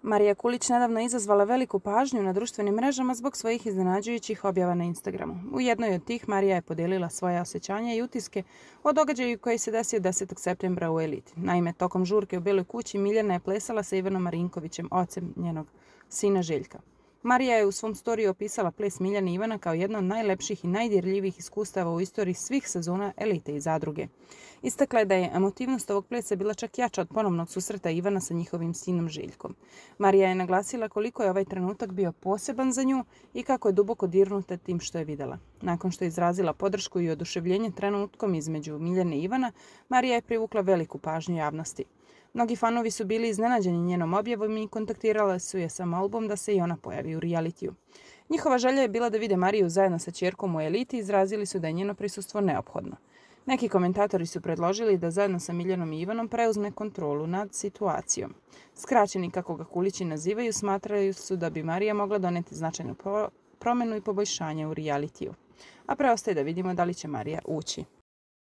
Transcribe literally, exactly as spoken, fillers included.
Marija Kulić nedavno je izazvala veliku pažnju na društvenim mrežama zbog svojih iznenađujućih objava na Instagramu. U jednoj od tih Marija je podijelila svoje osjećanja i utiske o događaju koji se desio desetog septembra u Eliti. Naime, tokom žurke u Beloj kući Miljana je plesala sa Ivanom Marinkovićem, ocem njenog sina Željka. Marija je u svom storiju opisala ples Miljane i Ivana kao jedno od najlepših i najdirljivijih iskustava u istoriji svih sezona Elite i Zadruge. Istakla je da je emotivnost ovog plesa bila čak jača od ponovnog susreta Ivana sa njihovim sinom Željkom. Marija je naglasila koliko je ovaj trenutak bio poseban za nju i kako je duboko dirnuta tim što je vidjela. Nakon što je izrazila podršku i oduševljenje trenutkom između Miljane i Ivana, Marija je privukla veliku pažnju javnosti. Mnogi fanovi su bili iznenađeni njenom objavom i kontaktirali su je sa molbom da se i ona pojavi u realitiju. Njihova želja je bila da vide Mariju zajedno sa ćerkom u Eliti i izrazili su da je njeno prisustvo neophodno. Neki komentatori su predložili da zajedno sa Miljanom i Ivanom preuzme kontrolu nad situacijom. Skraćeni, kako ga Kulići nazivaju, smatraju su da bi Marija mogla doneti značajnu promjenu i poboljšanje u realitiju. A preostaje da vidimo da li će Marija ući.